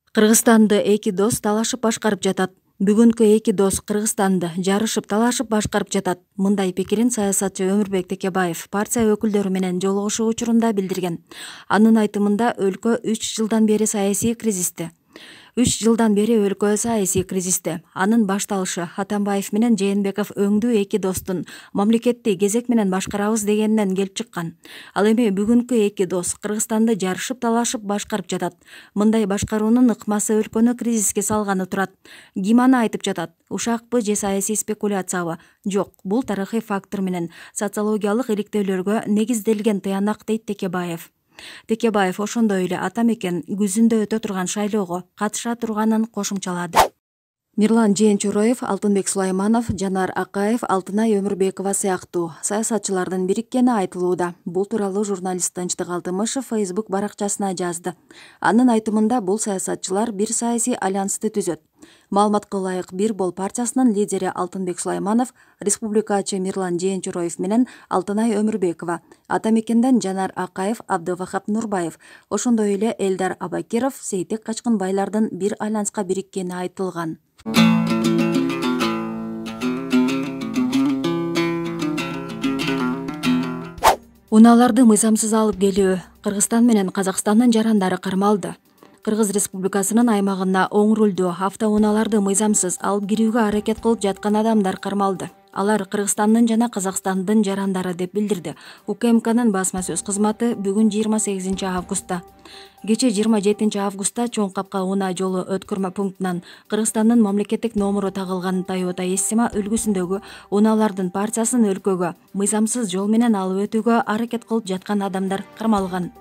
Кыргызстанды эки дос талашып башкарып жатат. Бүгүнкү эки дос Кыргызстанды жарышып талашып башкарып жатат. Мындай пикирин саясатчы Өмүрбек Текебаев партия өкүлдөрү менен жолугушуу учурунда билдирген. Анын айтымында өлкө 3 жылдан бери саясий кризисте. 3 жылдан бери өлкө саясий кризисте. Анын башталышы Атамбаев менен Жээнбеков өңдүү эки достун мамлекетти кезек менен башкарабыз дегенинен келип чыккан. Ал эми бүгүнкү эки дос Кыргызстанды жарышып талашып башкарып жатат. Мындай башкаруунун ыкмасы өлкөнү кризиске салганы турат. Ким аны айтып жатат? Ушакпы же саясий спекуляциябы? Жок, бул тарыхый фактор менен социологиялык иликтөөлөргө негизделген тыянак, дейт Текебаев. Текебаев ошондой эле ата мекен күзүндө өтө турган шайлоого катыша турганын кошумчалады. Мирлан Жээнчуроев, Алтынбек Сулайманов, Жанар Акаев, Алтынай Өмүрбекова сыяктуу саясатчылардын бириккени айтылууда. Бул тууралуу журналист Тынчтык Алтымышев Facebook баракчасына жазды. Анын айтымында бул саясатчылар бир саясий альянсты түзөт. Маалыматка ылайык Бир бол партиясынын лидери Алтынбек Сулайманов, республикачы Мирлан Жээнчуроев менен Алтынай Өмүрбекова, ата мекенден Жанар Акаев, Абдывахап Нурбаев, ошондой эле Элдар Абакиров, Сейтек Качкынбайлардын бир альянска бириккени айтылган. Унааларды мыйзамсыз алып келүү. Кыргызстан менен Казакстандын жарандары кармалды. Кыргыз Республикасынын аймагына оң рулдуу автоунааларды мыйзамсыз алып кирүүгө аракет кылып жаткан адамдар кармалды. Алар Кыргызстандын жана Казакстандын жарандары деп билдирди УКМКнын басма сөз кызматы бүгүн 28 августта. Кече 27 августта Чоң Капка унаа жолу өткөрмө пунктунан Кыргызстандын мамлекеттик номуру тагылган Toyota Essiма үлгүсүндөгү унаалардын партиясын өлкөгө мыйзамсыз жол менен алып өтүүгө аракет кылып жаткан адамдар кармалган.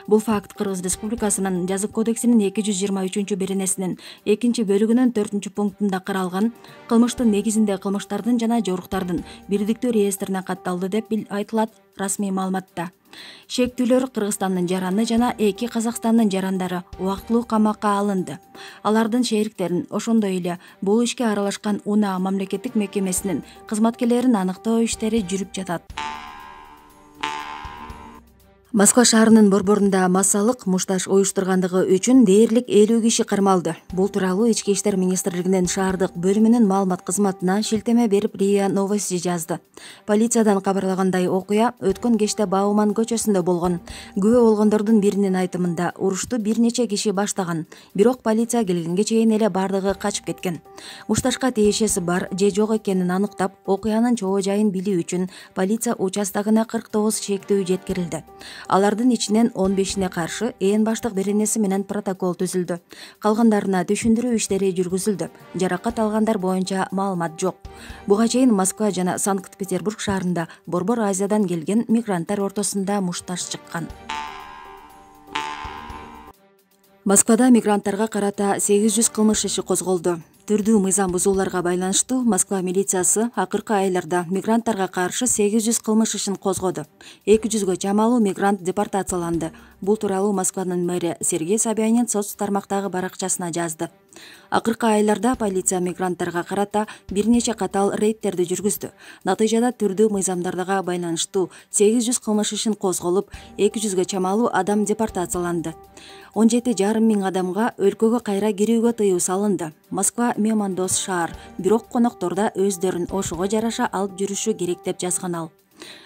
Бул факт Кыргыз Республикасынын Жазык кодексинин 223-беренесинин 2-бөлүгүнүн 4-пунктунда каралган кылмыштын негизинде кылмыштардын жана жоруктардын бирдиктүү реестрине катталды деп айтылат расмий маалыматта. Шектүүлөр Кыргызстандын жараны жана 2 Казакстандын жарандары убактылуу камакка алынды. Алардын шериктерин, ошондой эле бул ишке аралашкан унаа мамлекеттик мекемесинин кызматкерлерин аныктоо иштери жүрүп жатат. Москва шаарынын борборунда массалык мушташ уюштургандыгы үчүн дээрлик 50 киши кармалды. Бул тууралуу Ички иштер министрлигинин шаардык бөлүмүнүн маалымат кызматына шилтеме берип РИА Новости жазды. Полициядан кабарлагандай окуя өткөн кечте Бауман көчөсүндө болгон. Күбө болгондордун биринин айтымында урушту бир нече киши баштаган, бирок полиция келгенге чейин эле бардыгы качып кеткен. Мушташка тиешеси бар же жок экенин аныктап, окуянын чоо жайын билүү үчүн полиция участогуна 49 шектүү жеткирилди. Алардын ичинен 15-ине каршы ээн баштык беренеси менен протокол түзүлдү. Калгандарына түшүндүрүү иштери жүргүзүлдү. Жаракат алгандар боюнча маалымат жок. Буга чейин Москва жана Санкт-Петербург шаарында Борбор Азиядан келген мигранттар ортосунда мушташ чыккан. Москвада мигранттарга карата 800 кылмыш иши козголду. Түрдүү мыйзам бузууларга байланыштуу Москва милициясы акыркы айларда мигранттарга каршы 800 кылмыш ишин козгоду. 200гө чамалуу мигрант депортацияланды. Бул тууралуу Москванын мэри Сергей Собянин соц тармактагы баракчасына жазды. Акыркы айларда полиция мигранттарга карата бир нече катал рейдтерди жүргүздү. Натыйжада түрдүү мыйзамдарга байланыштуу 800 кылмыш ишин козголуп, 200гө чамалуу адам депортацияланды. 17,5 миң адамга өлкөгө кайра кирүүгө тыюу салынды. Москва меймандос шаар, бирок конокторда өздөрүн ошого жараша алып жүрүшү керек деп жазган ал.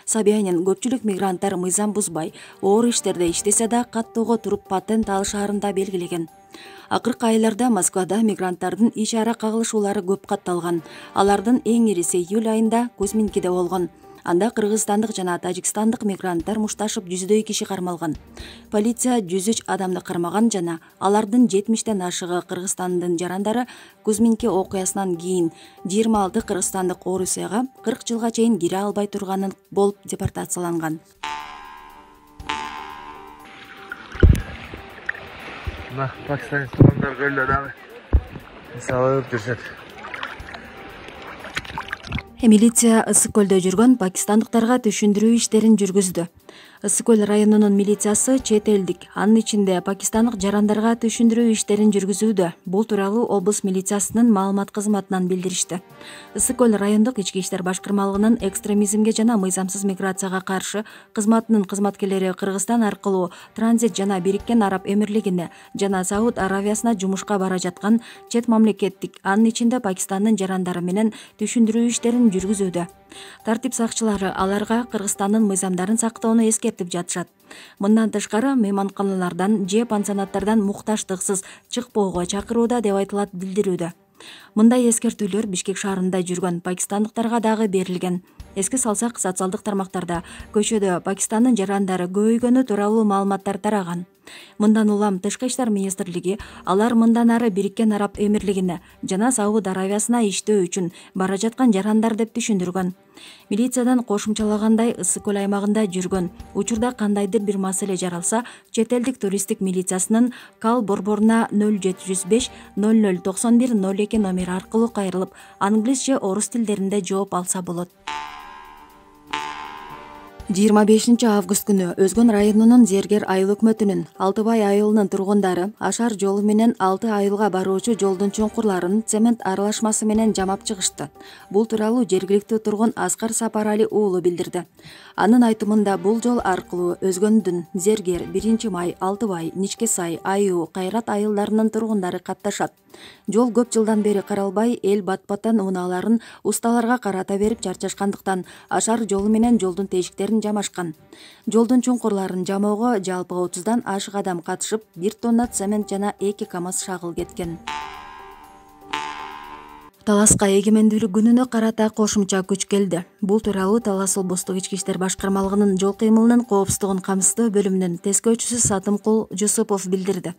Собянин көпчүлүк мигранттар мыйзам бузбай, оор иштерде иштесе да каттоого туруп патент алышаарын белгилеген. Акыркы айларда Москвада мигранттардын иш ара кагылышуулары көп катталган. Алардын эң ириси июль айында Кузминкиде болгон. Анда кыргызстандык жана тажикстандык мигранттар мушташып 100дөй киши кармалган. Полиция 103 адамды кармаган жана алардын 70тен ашыгы Кыргызстандын жарандары Кузминки окуясынан кийин 26 кыргызстандык Орусияга 40 жылга чейин кире албай турганын болуп депортацияланган. Пакистан адамдар көлдө дагы мисалы жүрүшөт. Милиция Ысык көлдө жүргөн пакистандыктарга түшүндүрүү иштерин жүргүздү. Ысык көл районунун милициясы чет элдик, анын ичинде пакистандык жарандарга түшүндүрүү иштерин жүргүзүүдө. Бул тууралуу облус милициясынын маалымат кызматынан билдиришти. Ысык көл райондук ички иштер башкармалыгынын экстремизмге жана мыйзамсыз миграцияга каршы кызматынын кызматкерлери Кыргызстан аркылуу транзит жана Бириккен Араб Эмирлигине жана Сауд Аравиясына жумушка бара жаткан чет мамлекеттик, анын ичинде Пакистандын жарандары менен түшүндүрүү иштерин жүргүзүүдө. Тартип сакчылары аларга Кыргызстандын мыйзамдарын сактоону эскертип жатышат. Мындан тышкары мейманканалардан же пансионаттардан мукташтыксыз чыкпоого чакырууда деп айтылат билдирүүдө. Мындай эскертүүлөр Бишкек шаарында жүргөн пакистандыктарга дагы берилген. Эске салсак, социалдык тармактарда көчөдө Пакистандын жарандары көбөйгөнү тууралуу маалыматтар тараган. Мындан улам Тышкы иштер министрлиги алар мындан ары Бириккен Араб Эмирлигине жана Сауд Аравиясына иштөө үчүн бара жаткан жарандар деп түшүндүргөн. Милициядан кошумчалагандай, Ысык көл аймагында жүргөн учурда кандайдыр бир маселе жаралса, чет элдик туристтик милициясынын Кал борборуна 0705 0091 02 номери аркылуу кайрылып, англис же орус тилдеринде жооп алса болот. 25 август күнү Өзгөн районунун Зергер айыл өкмөтүнүн Алтыбай айылынын тургундары Ашар жолу менен 6 айылга баруучу жолдун чуңкурларын цемент аралашмасы менен жамап чыгышты. Бул тууралуу жергиликтүү тургун Аскар Сапарали уулу билдирди. Анын айтымында бул жол аркылуу Өзгөндүн Зергер, 1-Май, Алтыбай, Ничке Сай, Айуу, Кайрат айылдарынын тургундары катташат. Жол көп жылдан бери каралбай, эл бат-баттан унааларын усталарга карата берип чарчашкандыктан Ашар жолу менен жолдун тешиктерин жамашкан. Жолдун чуңкурларын жамоого жалпы 30дан ашык адам катышып, 1 тонна цемент жана 2 КАМАЗ шагыл кеткен. Таласка эгемендүүлүк күнүнө карата кошумча күч келди. Бул тууралуу Талас облустук ички иштер башкармалыгынын жол кыймылынын коопсуздугун камсыздоо бөлүмүнүн тескөөчүсү Сатымкул Жусупов билдирди.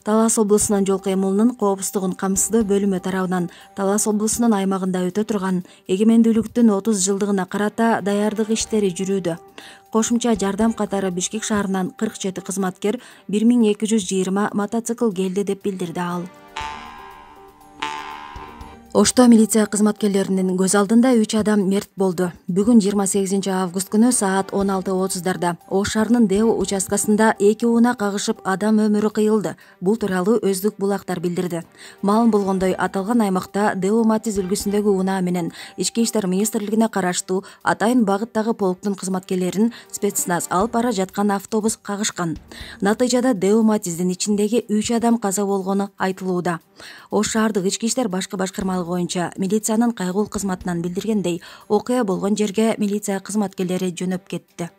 Талас облусунун жол кыймылынын коопсуздугун камсыздоо бөлүмү тарабынан Талас облусунун аймагында өтө турган эгемендүүлүктүн 30 жылдыгына карата даярдык иштери жүрүүдө. Кошумча жардам катары Бишкек шаарынан 47 кызматкер 1220 мотоцикл келди деп билдирди ал. Ошто милиция кызматкерлеринин көз алдында 3 адам мерт болду. Бүгүн 28 август күнү саат 16:30 Ош шаарынын Део участкасында 2 унаа кагышып адам өмүрү кыйылды. Бул тууралуу Өздүк булактар билдирди. Маалым болгондой, аталган аймакта Део Матиз үлгүсүндөгү унаа менен Ички иштер министрлигине караштуу Атайын багыттагы полктун кызматкерлерин спецназ алып бара жаткан автобус кагышкан. Натыйжада Део Матиздин ичиндеги 3 адам каза болгону айтылууда. Ош шаардык ички иштер башкармалыгы боюнча милициянын кайгылуу кызматынан билдиргендей, окуя болгон жерге милиция кызматкерлери жөнөп кетти.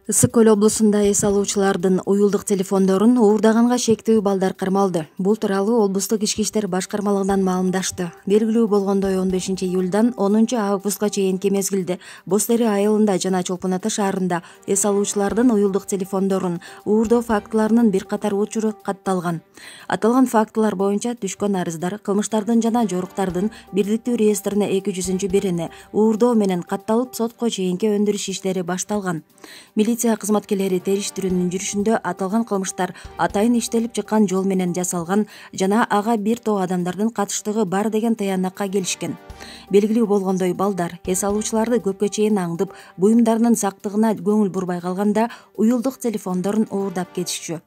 Ысык көл облусунда эс алуучулардын уюлдук телефондорун уурдаганга шектүү балдар кармалды. Бул тууралуу облустук ички иштер башкармалыгынан маалымдашты. Белгилүү болгондой, 15 июлдан 10 августка чейинки мезгилде Боз Дери айылында жана Чолпон Ата шаарында эс алуучулардын уюлдук телефондорун уурдоо фактыларынын бир катар учуру катталган. Аталган фактылар боюнча түшкөн арыздар кылмыштардын жана жоруктардын бирдиктүү реестрине 200-бирине уурдоо менен катталып, сотко чейинки өндүрүш иштери башталган. Милиция кызматкерлери териштирүүнүн жүрүшүндө аталган кылмыштар атайын иштелип чыккан жол менен жасалган жана ага бир топ адамдардын катыштыгы бар деген таянакка келишкен. Белгилүү болгондой, балдар эс алуучуларды көпкө чейин аңдып, буюмдарынын сактыгына көңүл бурбай калганда уюлдук телефондорун уурдап кетишчү.